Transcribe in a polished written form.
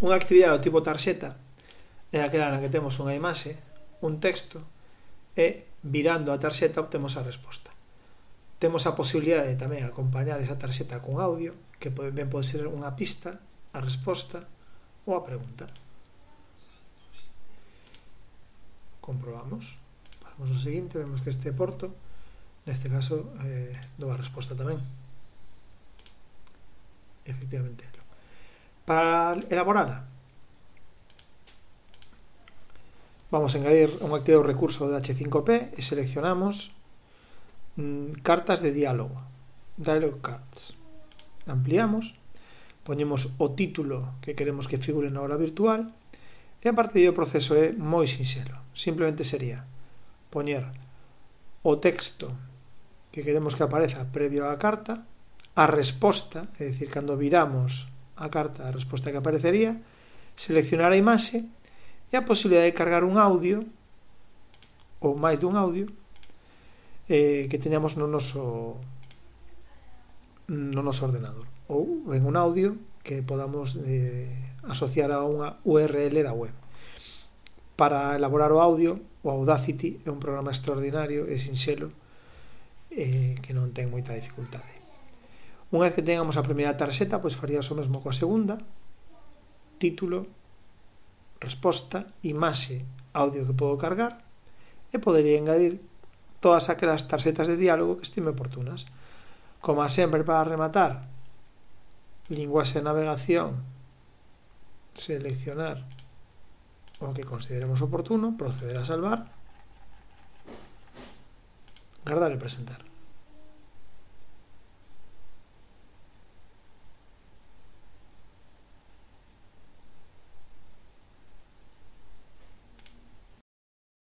Unha actividade do tipo tarxeta é aquela na que temos unha imaxe, un texto, e virando a tarxeta obtemos a resposta. Temos a posibilidade de tamén acompañar esa tarxeta con audio, que ben pode ser unha pista, a resposta ou a pregunta. Comprobamos. Pasamos ao seguinte, vemos que este porto, neste caso, dou a resposta tamén. Efectivamente. Para elaborala, vamos a engadir un activo recurso de H5P e seleccionamos cartas de diálogo, dialogue cards. Ampliamos, poñemos o título que queremos que figure na aula virtual e a partir do proceso é moi sinxelo. Simplemente sería poñer o texto que queremos que apareza previo á carta, a resposta, é dicir, cando viramos a carta, a resposta que aparecería, seleccionar a imaxe e a posibilidade de cargar un audio ou máis dun audio que teñamos no noso ordenador, ou en un audio que podamos asociar a unha URL da web. Para elaborar o audio, o Audacity é un programa extraordinario e sinxelo que non ten moita dificultade. Unha vez que tengamos a primeira tarxeta, pois faríamos o mesmo coa segunda: título, resposta, imaxe, audio que podo cargar, e podería engadir todas aquelas tarxetas de diálogo que estime oportunas. Como sempre, para rematar, linguaxe de navegación, seleccionar o que consideremos oportuno, proceder a salvar, guardar e presentar.